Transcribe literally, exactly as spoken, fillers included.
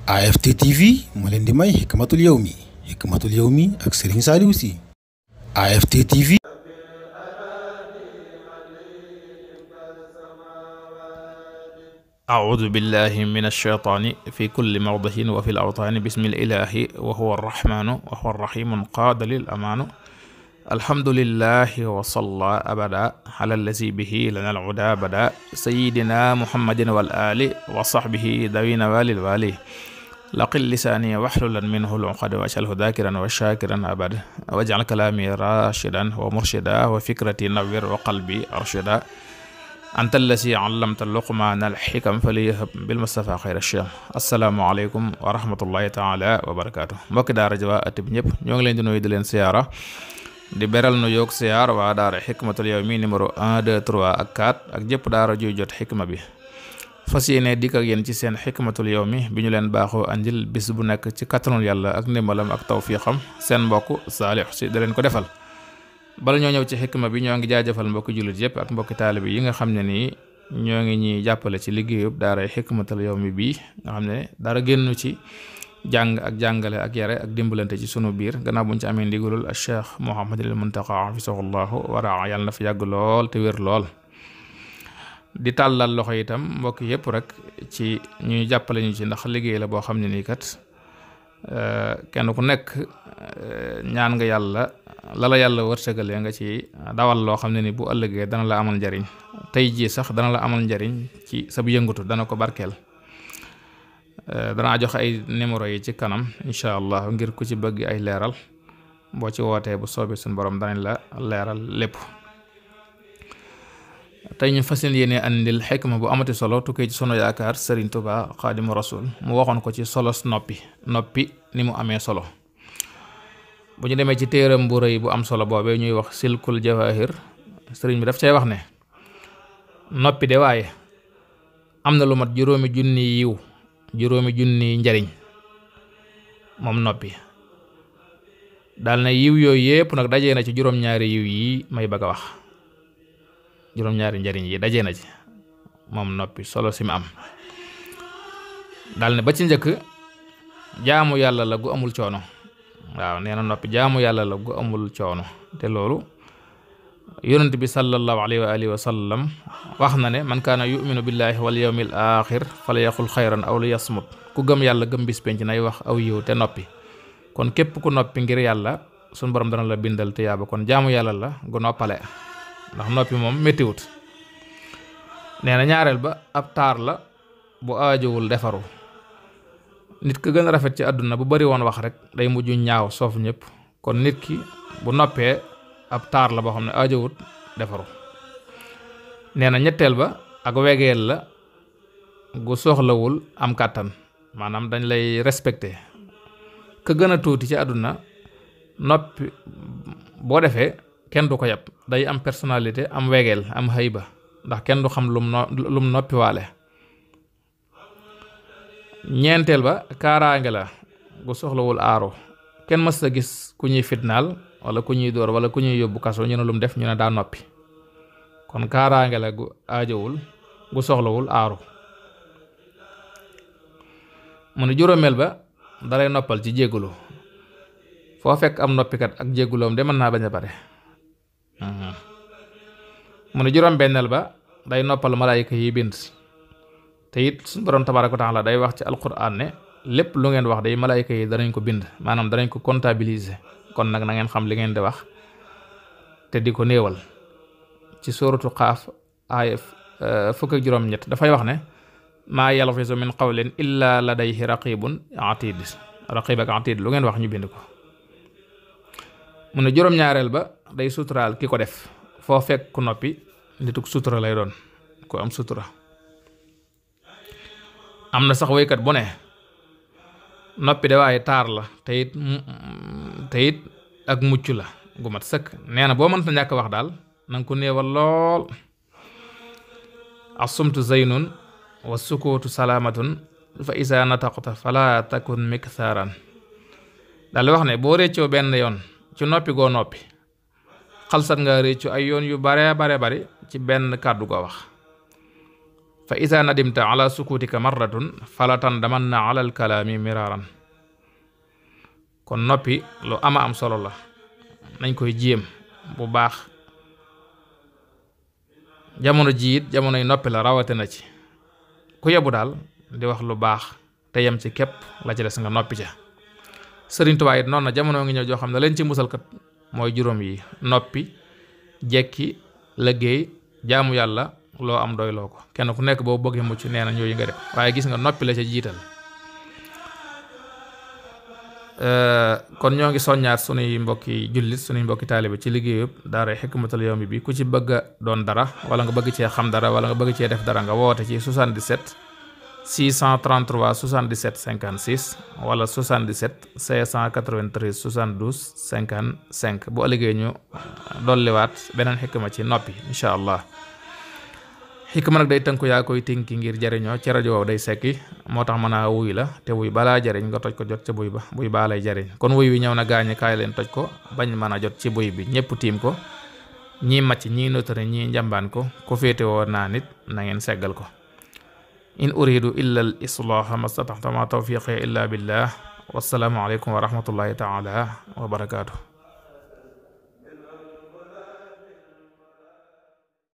A F T T V moo leen di may Hikmatul Yawmi Hikmatul Yawmi ak Serigne Saliou Sy A F T T V. أعوذ بالله من الشيطان في كل موضع وفي الأوطان بسم الإله وهو الرحمن وهو الرحيم قاد للأمان الحمد لله وصلى أبدا على الذي به لنا العدا بدا سيدنا محمد والآل وصحبه ذوين والي الوالي لقل لساني واحللا منه العقد واجعله ذاكرا وشاكرا أبدا واجعل كلامي راشدا ومرشدا وفكرتي نوّر وقلبي أرشدا anta allasi allamta luqmaana alxikam faliyahab bilmustafa xayra sham asalaamaaleykum wa rahmatullahi taala wa barakaatu mbokki daara ji waa at bi ñëpp ñoo ngi leen di nuyu di leen siyaara di beral nu yoog siyaar waa daara Hikmatul Yawmi numéro un deux trois ak quatre ak jëpp daara juy jot xikma bi fas yéene dikk ak yéen ci seen Hikmatul Yawmi bi ñu leen baaxoo andil bis bu nekk ci kattanul yàlla ak ndimbalam ak tawfiixam seen mbokk Saalix Si da leen ko defal. bala ñoo ñëw ci xikma bi ñoo ngi jaajëfal mbokki jullit yëpp ak mbokki taalibi yi nga xam ne nii ñoo ngi ñuy jàppale ci liggéeyub daara Hikmatul Yawmi bii nga xam ne dara génnu ci jàng ak jàngale ak yare ak dimbalante ci sunu biir gannaaw buñ ci amee ndigalul al Cheikh Mouhamadul Muntaqa hafisahullahu waraa yàlla na fa yàgg lool te wér lool di tàllal loxo itam mbokki yëpp rek ci ñuy jàppale ñu ci ndax liggéey la boo xam ne nii kat kenn ku nekk ñaan nga yàlla lala yàlla wërsëgalee nga ci dawal loo xam ne ni bu ëllëgee dana la amal njariñ tey jii sax dana la amal njariñ ci sa bu yëngatu dana ko barkeel danaa jox ay numéro yi ci kanam incha allah ngir ku ci bëgg ay leeral boo ci wootee bu soobee suñu borom danañ la leeral lépp tey ñu fas yéene andil xikma bu amati solo tukkee ci sunu yaakaar Serigne Touba Xaadimu Rasul mu waxoon ko ci solos noppi noppi ni mu amee solo bu ñu demee ci téeram bu rëy bu am solo boobee ñuy wax silkul jawahir sëriñ bi daf cay wax ne noppi de waaye am na lu mat juróomi junni yiw juróomi junni njariñ moom noppi daal na yiw yooyu yépp nag dajee na ci juróom-ñaari yiw yi may bëgg a wax juróom-ñaari njariñ yi dajee na ci moom noppi solo si mu am daal ne ba ci njëkk jaamu yàlla la gu amul coono waaw nee na noppi jaamu yàlla la gu amul coono te loolu yonent bi sallallahu alayhi wa alihi wa sallam wax na ne man kaana yuminu billahi wal yawmil axir falyaqul xayran aw liyasmut ku gëm yàlla gëm bis penc nay wax aw yiw te noppi kon képp ku noppi ngir yàlla suñu borom dana la bindal te yaaba kon jaamu yàlla la gu noppale ndax noppi moom méttiwut nee na ñaareel ba ab taar la bu aajowul defaru nit ki gën a rafet ci àdduna bu bari woon wax rek day mujj ñaaw soof ñëpp kon nit ki bu noppee ab taar la boo xam ne aajowut defaru nee na ñetteel ba ak wegeel la gu soxlawul am kàttan maanaam dañ lay respecté ka gën a tuuti ci àdduna noppi boo defee kenn du ko yàpp day am personnalité am wegeel am hayba ndax kenn du xam lum no lum noppi waale ñeenteel ba kaaraange la gu soxlawul aaru kenn mës a gis ku ñuy fitnaal wala ku ñuy dóor wala ku ñuy yóbbu kaso ñu ne lu mu def ñu ne daa noppi kon kaaraange la gu aajowul gu soxlawul aaru mu ne juróomeel ba dalay noppal ci jéggulu foo fekk am noppikat ak jégguloom de mën naa bañ a bare mu ne juróom benneel ba day noppal malaayika yi bind te it suñu borom tabaaraka wa taala day wax ci alquran ne lépp lu ngeen wax day malaayika yi danañ ko bind maanaam danañ ko comptabiliser kon nag na ngeen xam li ngeen di wax te di ko néewal ci suuratu Qaaf aaya fukk ak juróom ñett dafay wax ne maa yalfizu min qawlin illa ladayhi raqibun atid raqib ak atid lu ngeen wax ñu bind ko mu ne juróom-ñaareel ba day suturaal ki ko def foo fekk ku noppi nituk sutura lay doon ku am sutura am na sax woykat bu ne noppi de waaye taar la te it te it ak mucc la gu mat sëkk nee na boo mënta ñàkk wax daal nanga ko néewal lool assumtu zaynun wa sukuutu salaamatun fa isa nataqta fala takun miktharan daal wax ne boo réccoo benn yoon ci noppi goo noppi xalsat nga réccu ay yoon yu bare bare bari ci benn kàddu goo wax fa ida nadimta ala sukutika marratun fala tandamanna ala alkalaami miraaran. kon noppi lu ama am solo la, nañ koy jéem bu baax. jamono jiit jamonoy noppi la rawate na ci ku yebu daal di wax lu baax te yem ci képp, la ci des nga noppi ca. Sëriñ Tuubaa it noonu na jamono ngi ñëw joo xam ne leen ci musalkat mooy juróom yi: noppi, jekki, liggéey, jaamu yàlla, loo am doy loo ko. kenn ku nekk boo bëggee mucc nee na ñooyu nga def, waaye gis nga noppi la ca jiital. kon ñoo ngi soññaat sunuy mbokki jullit sunuy mbokki taalibe ci liggéeyub daara Hikmatul Yawmi bi. ku ci bëgg a doon dara wala nga bëgg cee xam dara wala nga bëgg cee def dara nga woote ci soixante-dix-sept six cent trente-trois soixante-dix-sept cinquante-six wala soixante-dix-sept cinq cent quatre-vingt-treize soixante-douze cinquante-cinq. bu ëllëgee ñu dolliwaat beneen xikma ci noppi incha allah. xikma nag day tënku yaa koy tinki ngir jariñoo ci rajo wow day sekki, moo tax mën a wuy la te wuy balaa jariñ nga toj ko jot ca buy ba buy baa lay jariñ. kon wuy wi ñëw na gaañi kaay leen toj ko bañ mën a jot ci buy bi. ñëpp tiim ko, ñii macc ñii notari ñii njambaan ko, ku féete woo naa nit na ngeen seggal ko. in uridu illa al islaaha mastataxta ma tawfiqi illa billah wassalaamu aleykum wa rahmatullahi taala wa barakaatu.